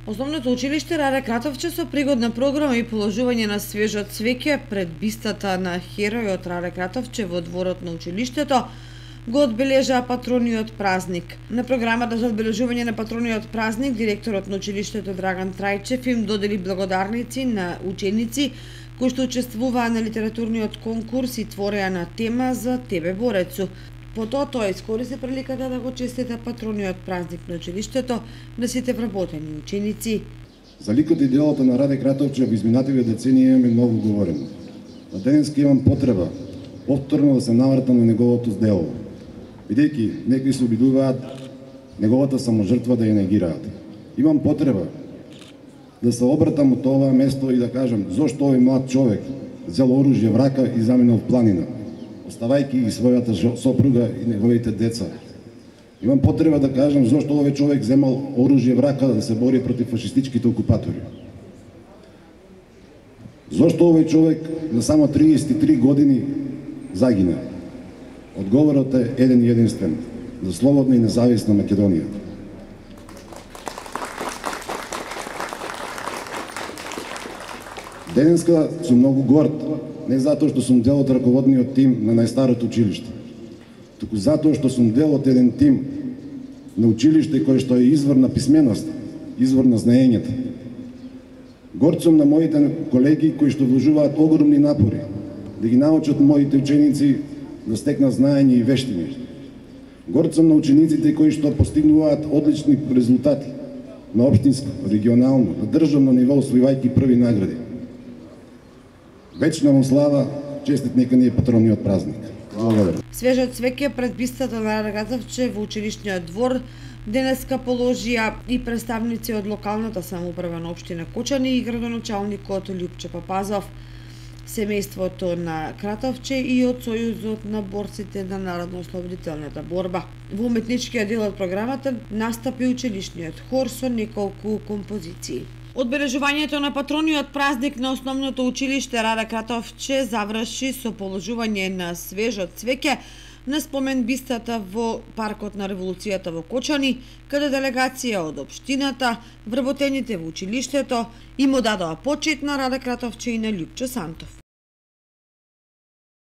Основното училиште Раде Кратовче со пригодна програма и положување на свежо цвеќе пред бистата на херојот Раде Кратовче во дворот на училиштето го одбележаа патрониот празник. На програмата за одбележување на патрониот празник директорот на училиштето Драган Трајчев им додели благодарници на ученици кои што учествуваа на литературниот конкурс и твореа на тема за тебе борецу. Потоа тој искористи приликата да го честита патрониот празник на училиштето на сите вработени ученици. За ликот и делото на Раде Кратовче во изминативе децении имаме многу говорено. Но денеска имам потреба повторно да се навратам на неговото дело, бидејќи некои се обидуваат неговата саможртва да ја негираат. Имам потреба да се обратам од ова место и да кажам зошто овој млад човек зел оружје в рака и заминал в планина, оставајќи ги својата сопруга и неговите деца. Имам потреба да кажам зошто овој човек земал оружје в рака да се бори против фашистичките окупатори. Зошто овој човек на само 33 години загина? Одговорот е еден и единствен: за слободна и независна Македонија. Денеска сум многу горд, не затоа што сум дел од раководниот тим на најстарото училиште, туку затоа што сум дел од еден тим на училиште кој што е извор на писменост, извор на знаењето. Горд сум на моите колеги кои што вложуваат огромни напори да ги научат моите ученици да стекнат знаење и вештини. Горд сум на учениците кои што постигнуваат одлични резултати на општинско, регионално, на државно ниво, освојувајќи први награди. Вечна му слава, честит нека ни е патрониот празник. Благодарам. Свежо цвеќе пред бистата на Раде Кратовче во училишниот двор денеска положија и представници од локалната самоуправа на општина Кочани и градоначалникот Љупче Папазов, семејството на Кратовче и од Сојузот на борците на народно-ослободителната борба. Во уметничкиот дел од програмата настапи училишниот хор со неколку композиции. Одбележувањето на патрониот празник на основното училиште Раде Кратовче заврши со положување на свежо цвеќе на спомен бистата во паркот на револуцијата во Кочани, каде делегација од општината, вработените во училиштето им одадоа почит на Раде Кратовче и на Љупче Сантов.